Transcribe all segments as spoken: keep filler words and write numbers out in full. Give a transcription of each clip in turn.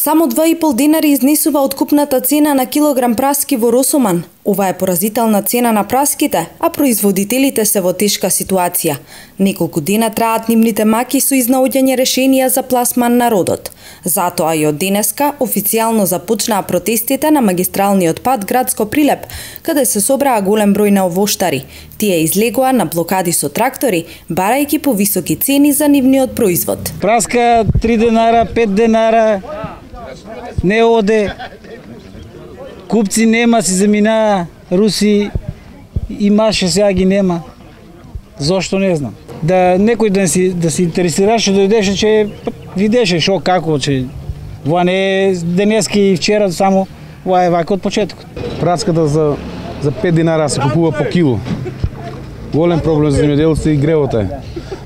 Само два и пол денари изнесува откупната цена на килограм праски во Росоман. Ова е поразителна цена на праските, а производителите се во тешка ситуација. Неколку дена траат нивните маки со изнаоѓање решенија за пласман на родот. Затоа и од денеска официјално започнаа протестите на магистралниот пат Градско Прилеп, каде се собраа голем број на овоштари. Тие излегоа на блокади со трактори, барајќи повисоки цени за нивниот производ. Праска три денара, пет денара, не оде. Купци нема, си заминаа, руси имаше, сега ги нема. Зошто не знам. Да некој да си да се интересираше, дојдеше, че видеше шо како, че ова не е денески и вчера само, ова е вака од почетокот. Праската за за пет динара се купува по кило. Голем проблем за земјоделците и гревот е.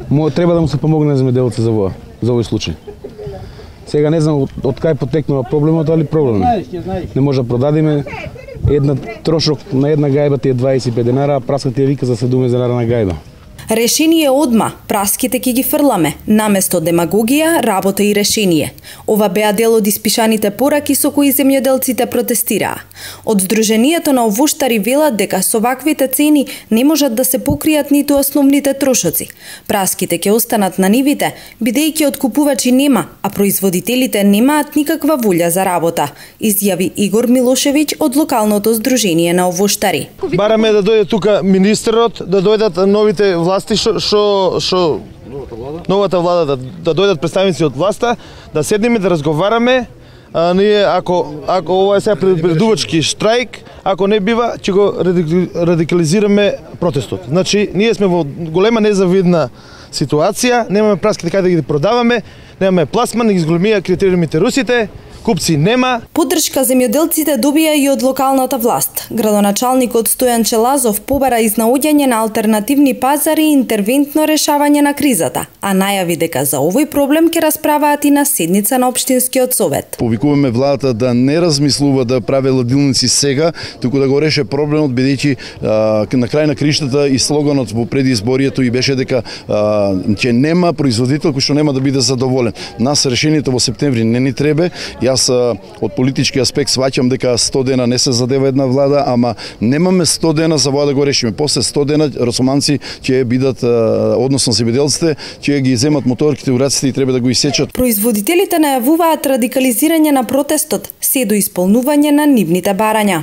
Мо треба да му се помогне земјоделците за ова, за овој случај. Сега не знам од, од кај потекнува проблемот, али проблем е. Не може да продадиме една трошок на една гајба ти е дваесет и пет динара, а праската ти е вика за седумдесет динара на гајба. Решение одма, праските ќе ги фрламе, наместо демагогија, работа и решение. Ова беа дел од испишаните пораки со кои земјоделците протестираа. Од Сдруженијето на овоштари велат дека со ваквите цени не можат да се покријат ниту основните трошоци. Праските ќе останат на нивите, бидејќи откупувачи нема, а производителите немаат никаква волја за работа, изјави Игор Милошевиќ од локалното Сдружение на овоштари. Бараме да дојде тука министерот, да дојдат новите власти што што што новата влада да, да дојдат представници од власта, да седнеме да разговараме. А, ние ако ако ова е сега предувачки штрајк, ако не бива, ќе го радикализираме протестот. Значи, ние сме во голема незавидна ситуација, немаме праските каде да ги продаваме, немаме пласман, ги изголемија критериумите русите. Купци нема. Поддршка земјоделците добија и од локалната власт. Градоначалникот Стојан Челазов побара изнаоѓање на алтернативни пазари и интервентно решавање на кризата, а најави дека за овој проблем ќе расправаат и на седница на општинскиот совет. Повикуваме владата да не размислува да прави ладилници сега, туку да го реше проблемот, бидејќи на крај на криштата и слоганот во предизборието и беше дека а, ќе нема производител кој што нема да биде задоволен. Нас решението во септември не ни треба. Јас од политички аспект сваќам дека сто дена не се задева една влада, ама немаме сто дена за ова да го решиме. После сто дена росоманци ќе бидат, односно земјоделците, ќе ги земат моторките, ураците и треба да го исечат. Производителите најавуваат радикализирање на протестот, се до исполнување на нивните барања.